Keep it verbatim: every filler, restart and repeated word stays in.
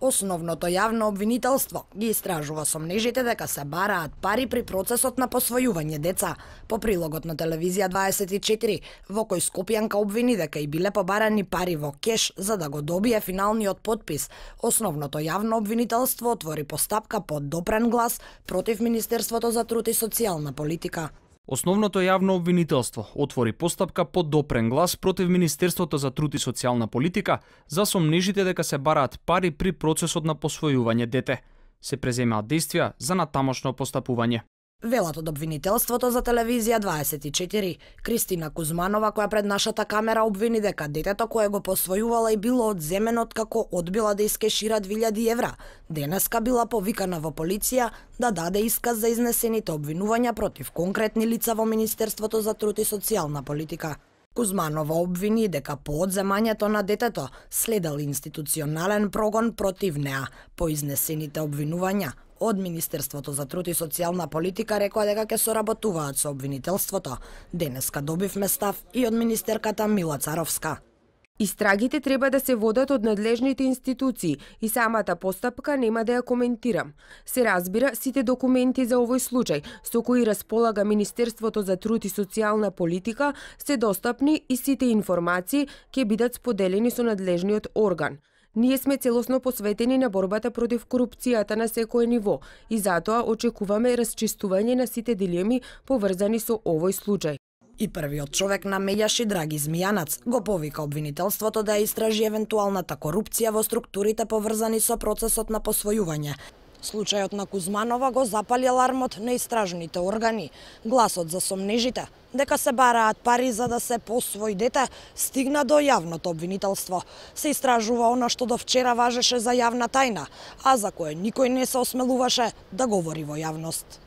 Основното јавно обвинителство ги истражува сомнежите дека се бараат пари при процесот на посвојување деца. По прилогот на телевизија дваесет и четири, во кој Скопјанка обвини дека и биле побарани пари во кеш за да го добие финалниот потпис, основното јавно обвинителство отвори постапка под допрен глас против Министерството за труд и социјална политика. Основното јавно обвинителство отвори постапка под допрен глас против Министерството за труд и социјална политика за сомнежите дека се бараат пари при процесот на посвојување дете. Се преземаат действија за натамошно постапување. Велат од обвинителството за телевизија дваесет и четири, Кристина Кузманова, која пред нашата камера обвини дека детето кое го посвојувала и било одземено откако одбила да искешира две илјади евра, денеска била повикана во полиција да даде исказ за изнесените обвинувања против конкретни лица во Министерството за труд и социјална политика. Кузманова обвини дека по одземањето на детето следел институционален прогон против неа по изнесените обвинувања. Од Министерството за труд и социјална политика рекоа дека ќе соработуваат со обвинителството. Денеска добивме став и од министерката Мила Царовска. Истрагите треба да се водат од надлежните институции и самата постапка нема да ја коментирам. Се разбира, сите документи за овој случај со кои располага Министерството за труд и социјална политика се достапни и сите информации ќе бидат споделени со надлежниот орган. Ние сме целосно посветени на борбата против корупцијата на секое ниво и затоа очекуваме расчистување на сите дилеми поврзани со овој случај. И првиот човек на Меѓаши, Драги Змијанац, го повика обвинителството да истражи евентуалната корупција во структурите поврзани со процесот на посвојување. Случајот на Кузманова го запали алармот на истражните органи. Гласот за сомнежите дека се бараат пари за да се посвои дете стигна до јавното обвинителство. Се истражува она што до вчера важеше за јавна тајна, а за кое никој не се осмелуваше да говори во јавност.